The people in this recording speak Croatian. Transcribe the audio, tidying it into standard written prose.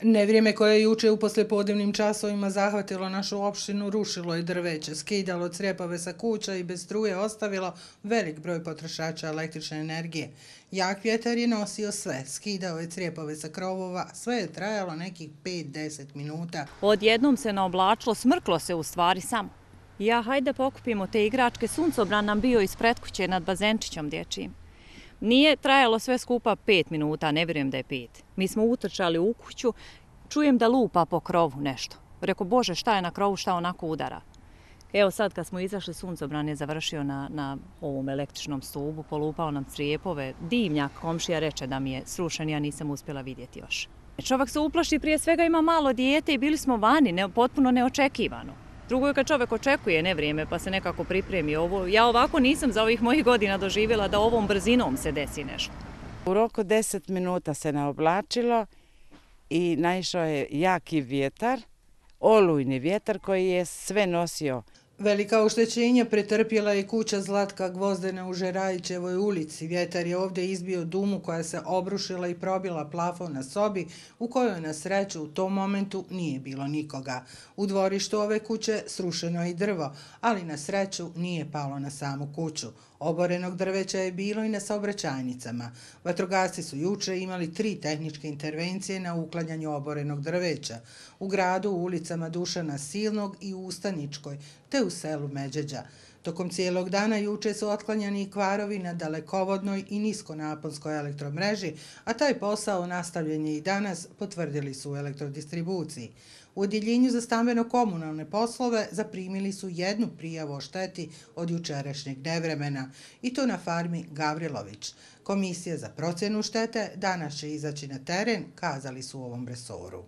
Nevrijeme koje je juče u poslijepodnevnim časovima zahvatilo našu opštinu rušilo je drveće, skidalo crjepove sa kuća i bez struje ostavilo velik broj potrošača električne energije. Jak vjetar je nosio sve, skidao je crjepove sa krovova, sve je trajalo nekih 5-10 minuta. Odjednom se naoblačilo, smrklo se u stvari samo. Ja, hajde pokupimo te igračke, suncobran nam bio ispred kuće nad bazenčićom dječjim. Nije trajalo sve skupa 5 minuta, ne vjerujem da je 5. Mi smo utrčali u kuću, čujem da lupa po krovu nešto. Rekao, Bože, šta je na krovu, šta onako udara. Evo sad kad smo izašli, suncobran je završio na ovom električnom stubu, polupao nam crijepove. Dimnjak, komšija reče da mi je srušen, ja nisam uspjela vidjeti još. Čovjek se uplaši, prije svega ima malo dijete i bili smo vani, potpuno neočekivano. Drugo je kad čovjek očekuje nevrijeme pa se nekako pripremi ovo. Ja ovako nisam za ovih mojih godina doživjela da ovom brzinom se desi nešto. U roku 10 minuta se naoblačilo i naišao je jaki vjetar, olujni vjetar koji je sve nosio. Velika oštećenja pretrpjela je kuća Zlatka Gvozdena u Žerajićevoj ulici. Vjetar je ovdje izbio dumu koja se obrušila i probila plafon na sobi u kojoj na sreću u tom momentu nije bilo nikoga. U dvorištu ove kuće srušeno je i drvo, ali na sreću nije palo na samu kuću. Oborenog drveća je bilo i na saobraćajnicama. Vatrogasci su juče imali 3 tehničke intervencije na uklanjanju oborenog drveća. U gradu, u ulicama Dušana Silnog i u Ustaničkoj, te u selu Međeđa. Tokom cijelog dana juče su otklanjani i kvarovi na dalekovodnoj i niskonaponskoj elektromreži, a taj posao nastavljen je i danas, potvrdili su u elektrodistribuciji. U Odjeljenju za stambeno-komunalne poslove zaprimili su 1 prijavu o šteti od jučerašnjeg nevremena, i to na farmi Gavrilović. Komisija za procjenu štete danas će izaći na teren, kazali su u ovom resoru.